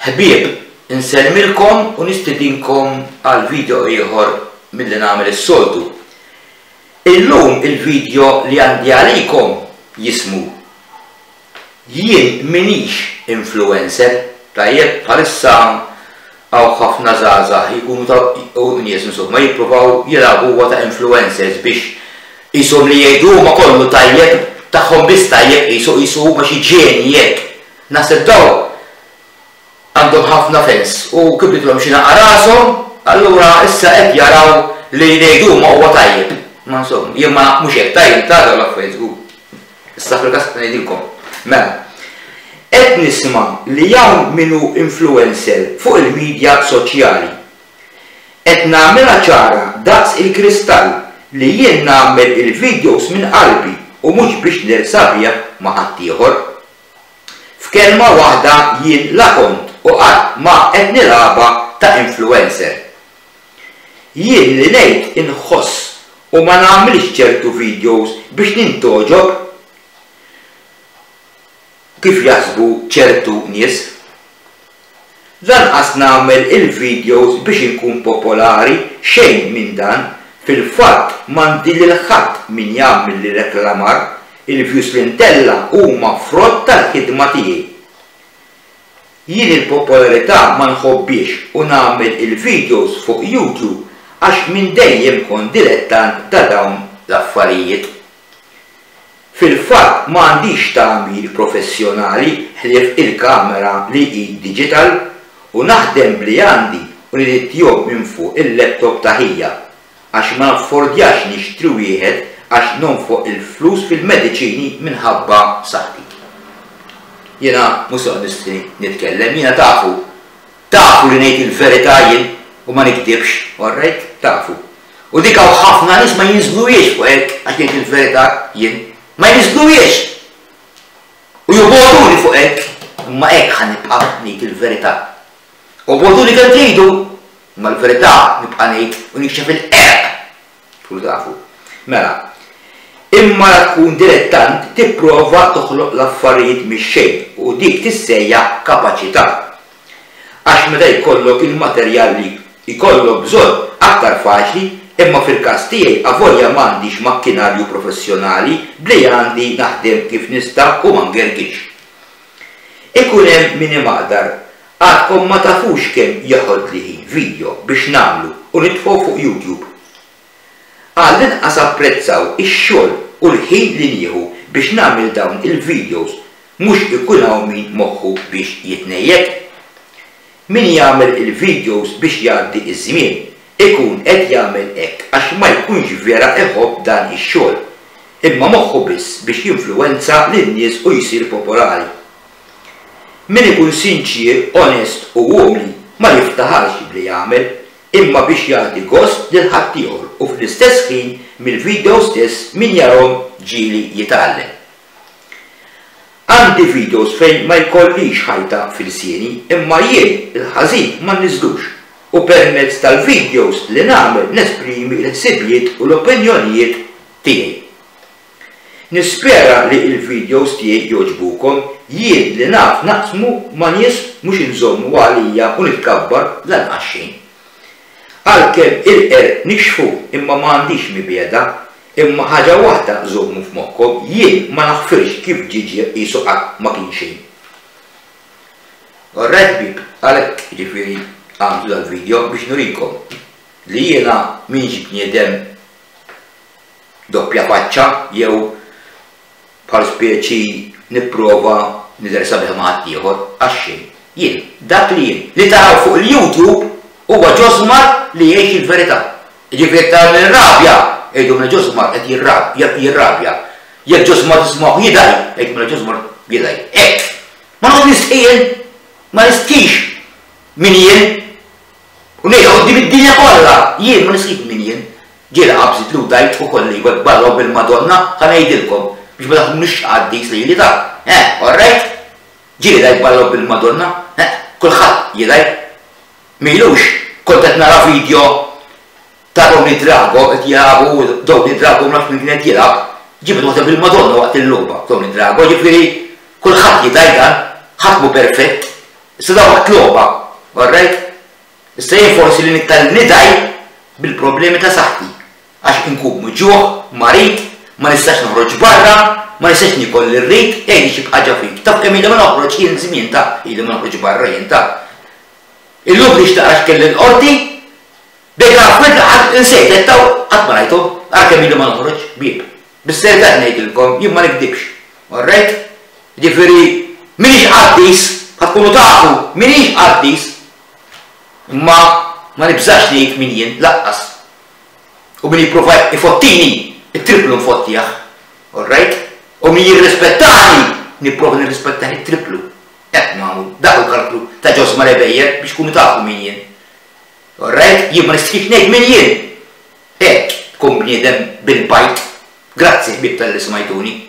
Ħbieb, insellmilkom u nistedinkom għal video ieħor milli nagħmel is-soltu. Illum il-video li għandi għalikom jismu Jien m'iniex influencer, tajjeb, bħalissa hawn ħafna żgħażagħ jkunu ta' u nies insomma jippruvaw jilagħbuha ta' influencers biex qishom li jgħidu huma kollu tajjeb, tagħhom biss tajjeb qisu qisu huma xi ġenji hekk. Naħseb dawn għandhom ħafna fans u kibritilhom xi naqa' rashom, allura issa qed jaraw li jgħidu huma huwa tajjeb. Ma insomma, jien ma mhux hekk tajjeb ta' dawn l-affarijiet żgur. Issa fil-każ qed ngħidilkom. Mela, qed nisma' li hawn min hu influencer fuq il-media soċjali. Qed nagħmilha ċara daqs il-kristall li jien nagħmel il-videos minn qalbi u mhux biex nersa bih ma' ħaddieħor. F'kelma waħda jien la kont u qatt ma qed nilgħabha ta' influencer. Jien li ngħid inħoss u ma nagħmilx ċertu videos biex nintgħoġob kif jaħsbu ċertu nies. Lanqas nagħmel il-videos biex inkun popolari, xejn minn dan, fil-fatt m'għandi lil ħadd min jagħmilli reklamar, il-views li ntella' huma frott tal-ħidma tiegħi. Jien il-popolarità ma nħobbhiex u nagħmel il-videos fuq YouTube għax minn dejjem kont dilettant ta' dawn l-affarijiet. Fil-fatt ma għandix tagħmir professjonali ħlief il-kamera li hi digital u naħdem b'li għandi u nedittjhom minn fuq il-laptop ta' ħija. Għax ma naffordjax nixtri wieħed għax nonfoq il-flus fil-mediċini minħabba saħħti. Jiena mhux se noqgħod nistħi nitkellem, jiena tafu, tafu li ngħid il-verità jien u ma nigdibx, all right? Tafu. U dik hawn ħafna nies ma jinżluhiex fuq hekk għax ngħid il-verità jien. Ma jinżluhiex! U jobogħduni fuq hekk, imma hekk ħa nibqa' ngħid il-verità. Obogħduni kemm tridu, Imma l-verità nibqa' ngħid u nikxef il-qerq! Tkunu tafu. Mela, imma la tkun dilettant tipprova toħloq l-affarijiet mix-xejn u dik tissejjaħ kapaċità. Għax meta jkollok il-materjal li jkollok bżonn aktar faċli imma fil-każ tiegħi avolja m'għandix makkinarju professjonali b'li għandi naħdem kif nista' u ma ngergirx. Ikun hemm min imaqdar Għadkom ma tafux kemm jeħodli ħin video biex nagħmlu u nitfgħu fuq YouTube. Għall-inqas apprezzaw ix-xogħol u l-ħin li nieħu biex nagħmel dawn il-videos mhux ikun hawn min moħħu biex jitnejjek. Min jagħmel il-videos biex jgħaddi ż-żmien ikun qed jagħmel hekk għax ma jkunx vera iħobb dan ix-xogħol imma moħħu biss biex jinfluwenza lin-nies u jsir popolari. Min ikun sinċier, onest u umli ma jiftaħarx b'li jagħmel, imma biex jagħti gost lil ħaddieħor u fl-istess ħin mill-video stess min jarahom ġieli jitgħallem. Għandi videos fejn ma jkollix ħajta f'ilsieni imma jien il-ħażin ma nniżżlux u permezz tal-videos li nagħmel nesprimi l-ħsibijiet u l-opinjonijiet tiegħi. Nispera li il-videos tiegħi jogħġbukom, jien li naf naqsmu ma' nies mhux inżommu għalija u nitkabbar lanqas xejn. Għalkemm il-qerq nikxfu imma ma għandix mibegħda, imma ħaġa waħda żommu f'moħħkom jien ma naħfirx kif ġie ġie qisu qatt ma kien xejn. Alright ħbieb, għalhekk jiġifieri għamiltu dal-video biex nurikom li jiena m'iniex bniedem doppja faċċa jew bħal speċi nipprova nidher sabiħ ma' ħaddieħor, għax xejn. Jien, dak li jien, li taraw fuq il-YouTube huwa Josmar li jgħix il-verità. Jiġifieri jekk taraw nirrabja, għidu mela Josmar qed jirrabja. Jekk Josmar tismgħuh jidgħi, għidu mela Josmar jidgħi. Hekk! Ma noqgħod nistħi jien, ma nistħix min jien. U ngħidha quddiem id-dinja kollha, jien ma nistħix min jien. Ġieli qabżitli u dgħajt ukoll iva b'Alla u bil-Madonna, ħa ngħidilkom, biex ma taħsbunix xi qaddis lili ta', eh, all right? Ġieli dgħajt b'Alla u bil-Madonna, eh, kulħadd jidgħi. M'ilux kont qed nara video ta' Tony Drago qed jilagħbu Tony Drago ma nafx min kien qed jilgħab, ġibed waħda bil-Madonna waqt il-logħba Tony Drago, ġifieri kulħadd jidgħi dan, ħadd mhu perfett. Issa da waqt logħba, alright? Issa jien forsi li niktar nidgħi bil-problemi ta' saħħti għax inkun muġugħ, marid, ma nistax noħroġ barra, ma nistax niekol li rrid, jgħidli xi ħaġa fik. Taf kemm ili ma noħroġ jien żmien ta' ili ma noħroġ barra jien ta'. Illum biex taqra x'kelli l-qorti, bejn l-affarijiet li qatt insejt qed taw qatt ma rajthom, ara kemm ili ma noħroġ, bieb. Bis-serjetà qed ngħidilkom, jien ma nikdibx. Alright? Jiġifieri m'iniex qaddis, ħa tkunu tafu, m'iniex qaddis. Imma ma nibżax ngħid min jien, lanqas. U min jipprova ifottini, it-triplu nfottih. Alright? U min jirrispettani, nipprova nirrispettah it-triplu. Hekk nagħmlu. Dak hu l-kalklu ta' Josma Rebejer biex tkunu tafu min jien. Alright? Jien ma nistħix ngħid min jien. Hekk tkun bniedem bil-bajd. Grazzi ħbieb talli smajtuni.